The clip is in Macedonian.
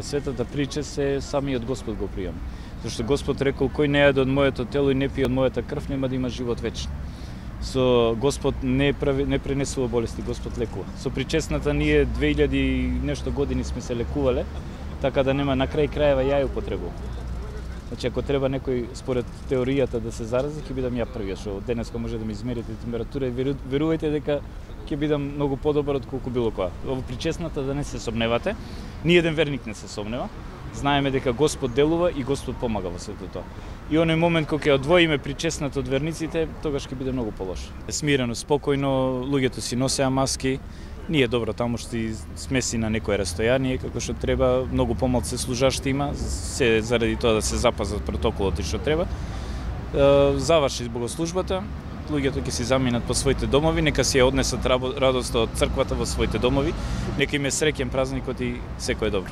Светата прича се самиот Господ го приема. Зашто Господ рекол, кој не јаде од моето тело и не пие од мојата крв, нема да има живот вечен. Со Господ не пренесува болести, Господ лекува. Со причесната ние 2000 и нешто години сме се лекувале, така да нема на крај крајева ја употребувам. Значи, ако треба некој според теоријата да се зарази, ќе бидам ја првиот, што денеска може да ми измерите температура и верувајте дека ќе бидам многу подобар од колку било која. Во причесната да не се сомневате, ни еден верник не се сомнева. Знаеме дека Господ делува и Господ помага во сето тоа. И оној момент кога ќе одвоиме причесната од верниците, тогаш ќе биде многу полошо. Смирено, спокојно, луѓето си носеа маски. Ние добро таму што смеси на некое растојание, како што треба, многу помалку служашти има, се заради тоа да се запазат протоколот и што треба. Заврши богослужбата, луѓето ќе си заминат по своите домови, нека си ја однесат радоста од црквата во своите домови, нека им е среќен празникот и секое добро.